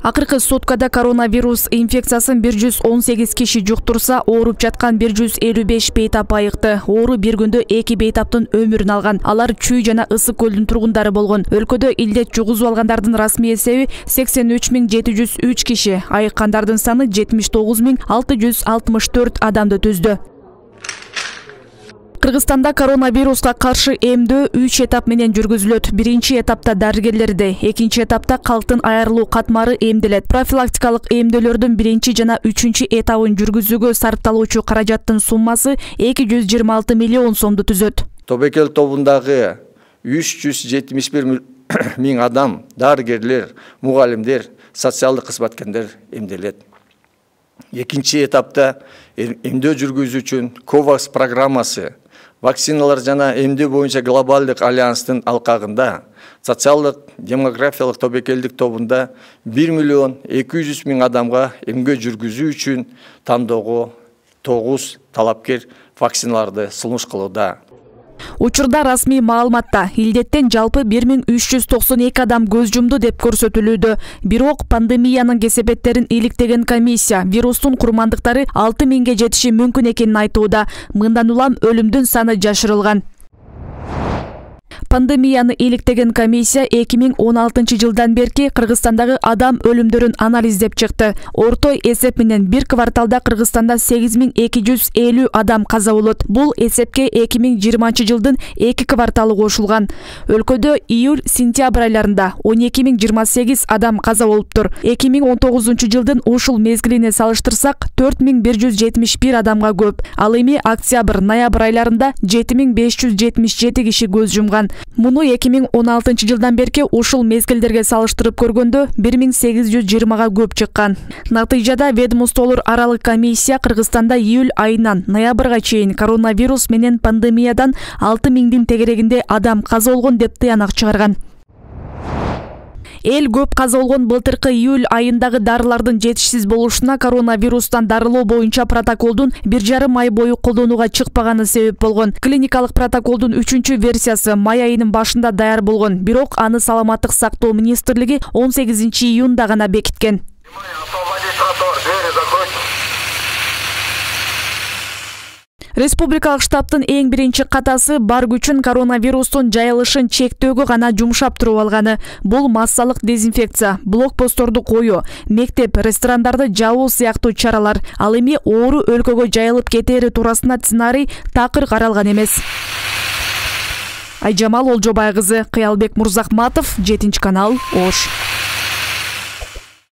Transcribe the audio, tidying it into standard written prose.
Акыркы суткада коронавирус инфекциясын 118 киши жуктурса, ооруп жаткан 155 бейтап айыкты. Оору бир күндө 2 бейтаптын өмүрүн алган. Алар Чүй жана Ысык көлдүн тургундары болгон. Өлкөдө илдет жугузуп алгандардын расмий эсеби 83703 киши, айыккандардын саны 79664 адамды түздү. Кыргызстанда коронавируска каршы эмдөө 3 этап менен жүргүзүлөт. Биринчи этапта дарыгерлерде, экинчи этапта калктын айрылуу катмары эмделет. Профилактикалык эмдөөлөрдүн биринчи жана үчүнчү этабын жүргүзүүгө сарпталуучу каражаттын суммасы 226 миллион сомду түзөт. Тобокел тобундагы 371 миң адам, дарыгерлер, мугалимдер, социалдык кызматкерлер эмделет. Экинчи этапта эмдөө жүргүзүү үчүн COVAX программасы, вакциналар жана эмдөө боюнча глобалдык альянстын алкагында социалдык демографиялык тобокелдик тобунда 1 миллион 200 миң адамга эмгөө жүргүзүү үчүн тандоого 9 талапкер вакциналарды сунуш кылууда. Учурда расмий маалыматта илдеттен жалпы 1392 адам көз жумду деп көрсөтүлүүдө. Бирок пандемиянын кесепеттерин иликтеген комиссия вирустун курмандыктары 6000ге жетиши мүмкүн экенин айтууда. Мындан улам өлүмдүн саны жашырылган. Пандемияны иликтеген комиссия 2016 жылдан берки Кыргызстандагы адам өлүмдөрүн анализдеп чыкты. Орто эсеп менен бир кварталда Кыргызстанда 8250 адам каза болот. Бул эсепке 2020 жылдын 2 кварталы кошулган. Өлкөдө июль-сентябрь айларында 12028 адам каза болуптур. 2019 жылдын ушул мезгилине салыштырсак 4171 адамга көп. Ал эми октябрь-ноябрь айларында 7577 киши көз жумган. Муну 2016 жылдан берки ушул мезгилдерге салыштырып көргөндө 1820га көп чыккан. Натыйжада ведомстволор аралык комиссия Кыргызстанда июль айынан ноябрга чейин коронавирус менен пандемиядан 6000дин тегерегинде адам каза болгон деп тыянак чыгарган. Эл көп каза болгон былтыркы июль айындагы дарылардын жетишсиз болушуна коронавирустан дарылоо боюнча протоколдун 1,5 ай бою колдонууга чыкпаганы себеп болгон. Клиникалык протоколдун 3-версиясы май айынын башында даяр болгон, бирок аны Саламаттык сактоо министрлиги 18 июнда гана бекиткен. Республикалык штабтын эң биринчи катасы бар күчүн коронавирустун жайылышын чектөөгө гана жумшап туруп алганы. Бул массалык дезинфекция, блокпостторду коюу, мектеп, ресторандарды жабуу сыяктуу чаралар. Ал эми оору өлкөгө жайылып кетери туурасында сценарий такыр каралган эмес. Айжамал Олжобай кызы, Кыялбек Мурзахматов, 7 канал, Ош.